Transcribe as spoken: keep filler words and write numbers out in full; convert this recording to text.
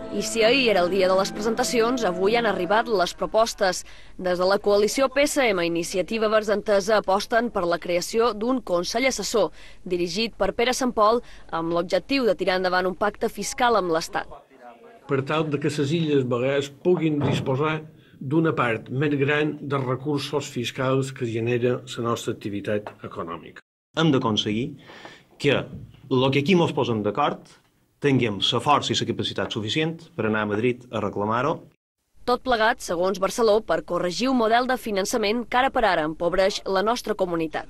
I si ahir era el dia de les presentacions, avui han arribat les propostes. Des de la coalició P S M Iniciativa Verds Entesa aposten per la creació d'un Consell Assessor, dirigit per Pere Santpol, amb l'objectiu de tirar endavant un pacte fiscal amb l'Estat. Per tal que les Illes Balears puguin disposar d'una part més gran dels recursos fiscals que genera la nostra activitat econòmica. Hem d'aconseguir que el que aquí ens posem d'acord tinguem la força i la capacitat suficient per anar a Madrid a reclamar-ho. Tot plegat, segons Barceló, per corregir un model de finançament que ara per ara empobreix la nostra comunitat.